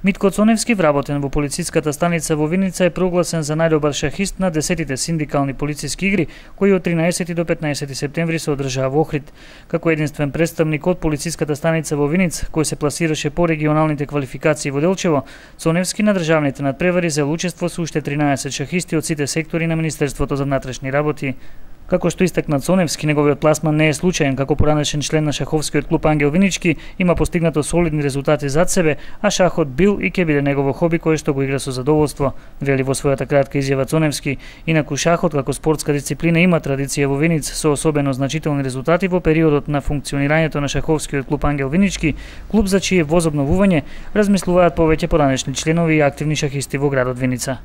Митко Цоневски, вработен во полициската станица во Виница, е прогласен за најдобар шахист на 10-тите синдикални полициски игри, кои од 13 до 15 септември се одржаа во Охрид. Како единствен представник од полициската станица во Виница, кој се пласираше по регионалните квалификации во Делчево, Цоневски на државните надпревари зел учество со уште 13 шахисти од сите сектори на Министерството за внатрешни работи. Како што истакна Цоневски, неговиот пласман не е случаен, како поранешен член на шаховскиот клуб Ангел Винички, има постигнато солидни резултати зад себе, а шахот бил и ќе биде негово хоби кое што го игра со задоволство, вели во својата кратка изјава Цоневски. Инаку шахот како спортска дисциплина има традиција во Виница со особено значителни резултати во периодот на функционирањето на шаховскиот клуб Ангел Винички, клуб за чие возобновување размислуваат повеќе поранешни членови и активни шахисти во градот Виница.